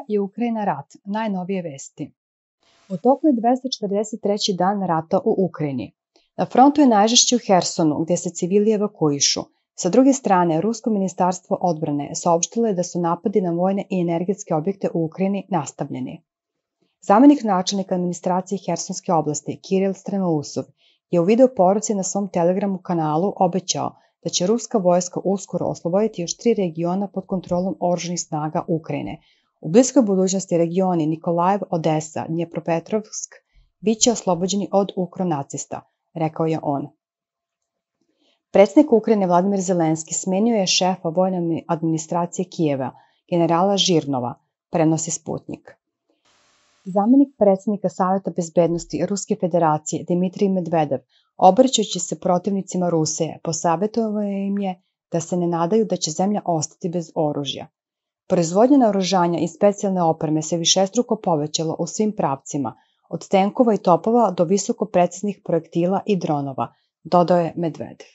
i Ukrajina rat, najnovije vesti. U toku je 243. dan rata u Ukrajini. Na frontu je najžešće u Hersonu, gdje se civili evakuišu. Sa druge strane, Rusko ministarstvo odbrane saopštilo je da su napadi na vojne i energetske objekte u Ukrajini nastavljeni. Zamenik načelnika administracije Hersonske oblasti, Kiril Strenousov, je u video poruci na svom Telegramu kanalu obećao da će ruska vojska uskoro osloboditi još 3 regiona pod kontrolom oružanih snaga Ukrajine. U bliskoj budućnosti regioni Nikolajev, Odesa, Dnjepropetrovsk bit će oslobođeni od ukronacista, rekao je on. Predsjednik Ukrajine Vladimir Zelenski smenio je šefa vojne administracije Kijeva, generala Žirnova, prenosi Sputnik. Zamenik predsjednika Saveta bezbednosti Ruske federacije Dmitrij Medvedev, obraćajući se protivnicima Rusije, posavjetovao im je da se ne nadaju da će zemlja ostati bez oružja. Proizvodnja naoružanja i specijalne opreme se višestruko povećala u svim pravcima, od tenkova i topova do visoko preciznih projektila i dronova, dodao je Medvedev.